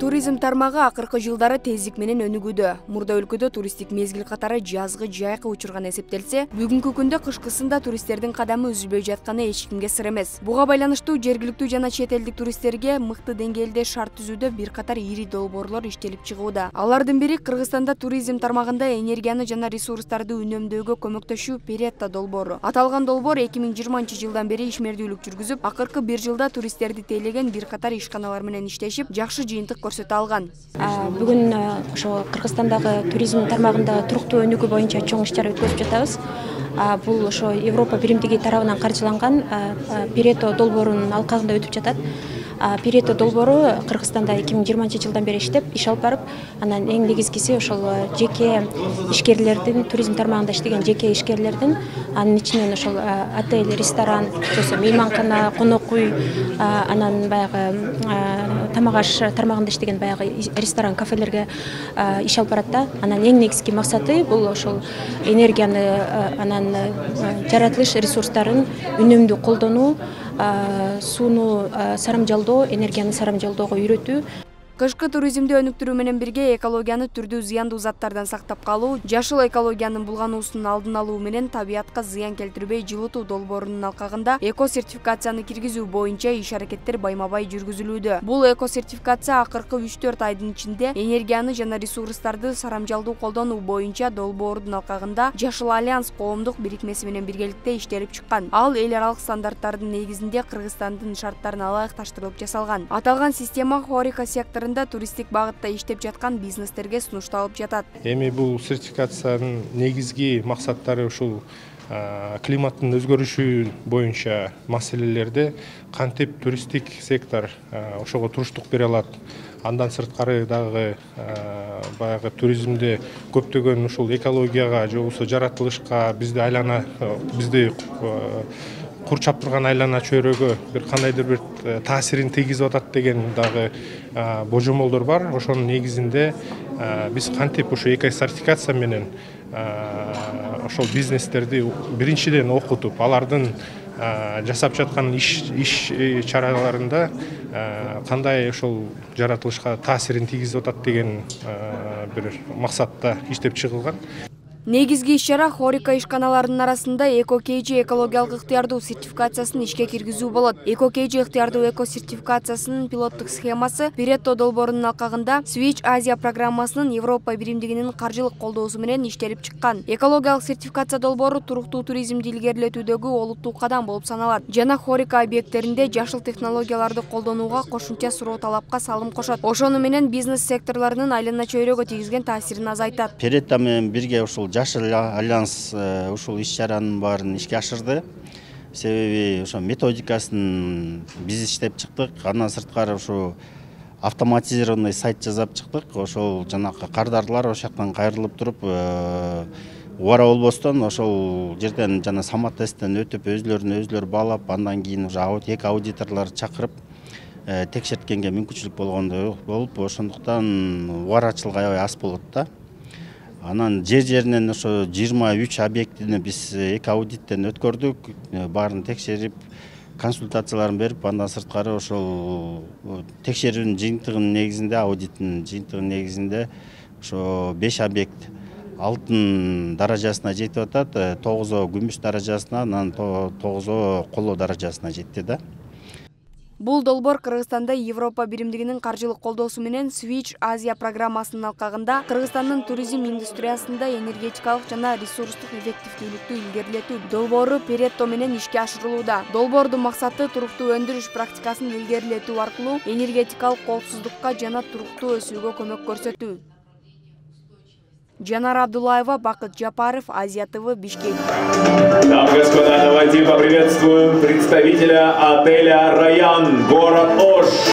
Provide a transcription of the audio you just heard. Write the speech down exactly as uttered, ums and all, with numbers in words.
Туризм тармагы акыркы жылдары тездик менен өнүгүүдө. Мурда өлкөдө туристтик мезгил катары жазгы жайкы учурган эсептелсе, бүгүнкү күндө кышкысында туристтердин кадамы үзүлбөй жатканы эч кимге сыр эмес. Буга байланыштуу жергиликтүү жана чет элдик туристтерге мыкты деңгээлде шарт түзүүдө бир катар ири долбоорлор иштелип чыгууда. Алардын бири Кыргызстанда туризм тармагында энергияны жана ресурстарды үнөмдөөгө көмөктөшүү Перетто долбоору. Аталган долбоор эки миң жыйырманчы жылдан бери ишмердүүлүк жүргүзүп, акыркы бир жылда туристтерди тейлеген бир катар ишканалар менен иштешип, жакшы жыйынтык көрсөтө алган. Бүгүн ошо Кыргызстандагы туризм тармагында туруктуу өнүгүү боюнча чоң иш-чара өткөзүп жатабыз. Бул ошо Европа биримдиги тарабынан каржыланган Перетто долбоорунун алкагында өтүп жатат. Перетто долбоору Кыргызстанда эки миң жыйырманчы жылдан бери иштеп, иш алып барып, анан эң негизгиси ошол жеке ишкерлердин, туризм тармагында иштеген жеке ишкерлердин, анын ичинен ошол отель, ресторан, жосо мейманкана, конок үй, анан баягы тамак аш тармагында иштеген баягы ресторан, кафелерге иш алып барат да. Анан эң негизги максаты бул ошол энергияны, анан жаратылыш ресурстарын үнөмдүү колдонуу, сууну сарамжалдоо, энергияны сарамжалоого үйрөтүү. Кышкы туризмди өнүктүрүү менен бирге экологияны түрдүү зыяндуу заттардан сактап калуу, жашыл экологиянын булгануусунун алдын алуу менен табиятка зыян келтирбей жылытуу долбоорунун алкагында эко сертификацияны киргизүү боюнча иш-аракеттер байма-бай жүргүзүлүүдө. Бул эко сертификация акыркы үч төрт айдын ичинде энергияны жана ресурстарды сарамжалдуу колдонуу боюнча долбоордун алкагында Жашыл альянс коомдук бирикмеси менен биргеликте иштелип чыккан. Ал эл аралык стандарттардын негизинде Кыргызстандын шарттарына ылайыкташтырылып жасалган. Аталган система Хорика секторунда туристтик багытта иштеп жаткан бизнестерге сунушталып жатат. Эми бул сертификациянын негизги максаттары ушул климаттын өзгөрүшү боюнча маселелерде кантип туристтик сектор ошого туруштук бере алат. Андан сырткары дагы баягы туризмде көптөгөн ушул экологияга же болбосо жаратылышка, бизди айлана бизди курчап турган айлана чөйрөгө бир кандайдыр бир таасирин тийгизип атат деген дагы божомолдор бар. Ошонун негизинде биз кантип ушу эко сертификация менен ошол бизнестерди биринчиден окутуп, алардын жасап жаткан иш иш чараларында кандай ошол жаратылышка таасирин тийгизип атат деген бир максатта иштеп чыгылган. Негизги иш-чара Хорика ишканаларынын арасында эко-кейжи экологиялык ыктыярдуу сертификациясын ишке киргизүү болот. Эко-кейжи ыктыярдуу эко сертификациясынын пилоттук схемасы Перетто долбоорунун алкагында Switch Азия программасынын Европа биримдигинин каржылык колдоосу менен иштелип чыккан. Экологиялык сертификация долбоору туруктуу туризмди илгерилетүүдөгү олуттуу кадам болуп саналат. Жана Хорика объекттеринде жашыл технологияларды колдонууга кошумча суроо талапка салым кошот. Ошону менен бизнес секторлорунун айлана чөйрөгө тийгизген таасирин азайтат. Перетто менен бирге ушул Жашыл альянс ушул иш-чаранын баарын ишке ашырды. Себеби ошо методикасын биз иштеп чыктык. Андан сырткары ушу автоматизированный сайт жасап чыктык. Ошол жанакы кардарлар ошол жактан кайрылып туруп, убара болбостон ошол жерден жана самат тесттен өтүп, өзлөрүн өзлөрү баалап, андан кийин уже эки аудиторлор чакырып текшерткенге мүмкүнчүлүк болгондой болуп, ошондуктан убарачылык аябай аз болот да. Анан жер жеринен ошо жыйырма үч объектини биз эки аудиттен өткөрдүк, баарын текшерип, консультацияларын берип, андан сырткары ошол текшерүүнүн жыйынтыгынын негизинде, аудиттин жыйынтыгынын негизинде ошо беш объект алтын даражасына жетип атат, тогузоо күмүш даражасына, анан тогузоо коло даражасына жетти да. Бул долбоор Кыргызстанда Европа биримдигинин каржылык колдоосу менен Switch Азия программасынын алкагында Кыргызстандын туризм индустриясында энергетикалык жана ресурстук эффективдүүлүктү илгерилетүү долбоору Перетто менен ишке ашырылууда. Долбоордун максаты туруктуу өндүрүш практикасын илгерилетүү аркылуу энергетикалык коопсуздукка жана туруктуу өсүүгө көмөк көрсөтүү. Жанар Абдуллаева, Бакыт Жапаров, Азия ТВ, Бишкек. Дамы и господа, давайте поприветствуем представителя отеля «Раян», город Ош.